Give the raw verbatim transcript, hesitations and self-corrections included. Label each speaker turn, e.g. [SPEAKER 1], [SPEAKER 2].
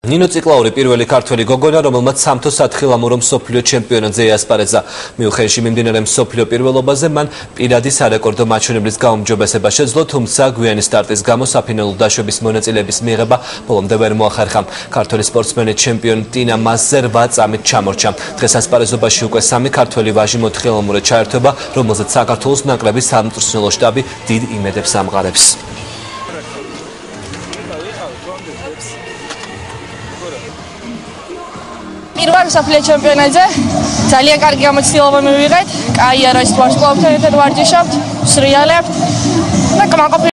[SPEAKER 1] ნინო ციკლაური პირველი ქართველი გოგონა, რომელმაც სამთო სათხილამურო მსოფლიო ჩემპიონატზე იასპარეზა. მიუხედავად მიმდინარე მსოფლიო პირველობაზე, მან პირადი სარეკორდო მაჩვენებლის გაუმჯობესება შეძლო, თუმცა გვიანი სტარტის გამო საფინალურ დაშვების მონაწილეების მიღება ბოლომდე ვერ მოახერხა. ქართველი სპორტსმენი ჩემპიონი ტინა მასზე რვა წამით ჩამორჩა. დღეს ასპარეზობაში უკვე სამი ქართველი ვაჟი მოთხილამურე ჩაერთვება, რომელზეც საქართველოს ნაკრების სამწვრთნელო შტაბი დიდ იმედებს ამყარებს.
[SPEAKER 2] პირველ მსოფლიო ჩემპიონატზე ძალიან კარგი გამოცდილება მივიღეთ. კაი არა ის ვარსკვლავთან ერთად ვარჯიშობთ, სრიალებთ და კმაყოფილი